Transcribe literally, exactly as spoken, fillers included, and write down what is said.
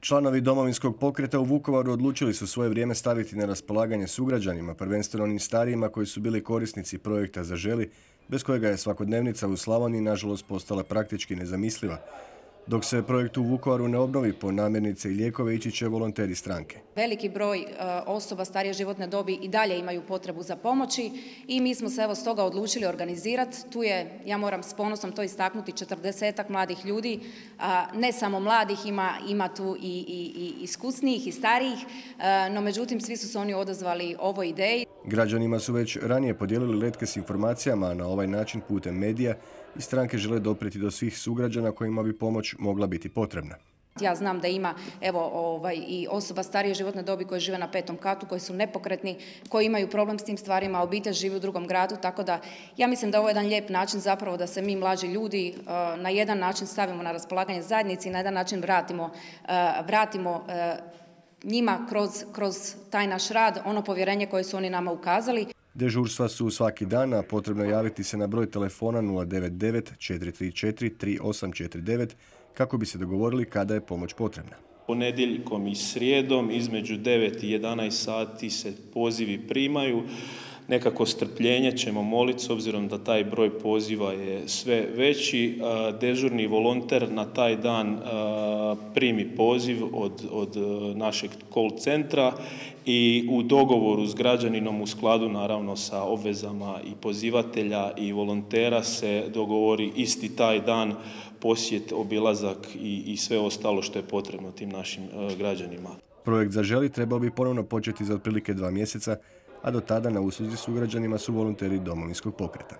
Članovi Domovinskog pokreta u Vukovaru odlučili su svoje vrijeme staviti na raspolaganje sugrađanima, prvenstveno onim starijima koji su bili korisnici projekta Zaželi, bez kojega je svakodnevnica u Slavoniji nažalost postala praktički nezamisliva. Dok se projekt u Vukovaru ne obnovi, po namirnice i lijekove ići će volonteri stranke. Veliki broj osoba starije životne dobi i dalje imaju potrebu za pomoći i mi smo se evo stoga odlučili organizirati. Tu je, ja moram s ponosom to istaknuti, četrdesetak mladih ljudi, ne samo mladih, ima, ima tu i, i, i iskusnijih i starijih, no međutim svi su se oni odazvali ovoj ideji. Građanima su već ranije podijelili letke s informacijama, a na ovaj način putem medija i stranke žele doprijeti do svih sugrađana kojima bi pomoć mogla biti potrebna. Ja znam da ima evo, ovaj, i osoba starije životne dobi koje žive na petom katu, koji su nepokretni, koji imaju problem s tim stvarima, obitelj živi u drugom gradu, tako da ja mislim da ovo je jedan lijep način zapravo da se mi mlađi ljudi uh, na jedan način stavimo na raspolaganje zajednici i na jedan način vratimo, uh, vratimo uh, njima kroz, kroz taj naš rad ono povjerenje koje su oni nama ukazali. Dežurstva su svaki dan, a potrebno je javiti se na broj telefona nula devet devet četiri tri četiri tri osam četiri devet kako bi se dogovorili kada je pomoć potrebna. Ponedjeljkom i srijedom između devet i jedanaest sati se pozivi primaju. Nekako strpljenje ćemo moliti s obzirom da taj broj poziva je sve veći. Dežurni volonter na taj dan primi poziv od, od našeg call centra i u dogovoru s građaninom u skladu naravno sa obvezama i pozivatelja i volontera se dogovori isti taj dan posjet, obilazak i, i sve ostalo što je potrebno tim našim građanima. Projekt Zaželi trebao bi ponovno početi za otprilike dva mjeseca, a do tada na usluzi sugrađanima su volonteri Domovinskog pokreta.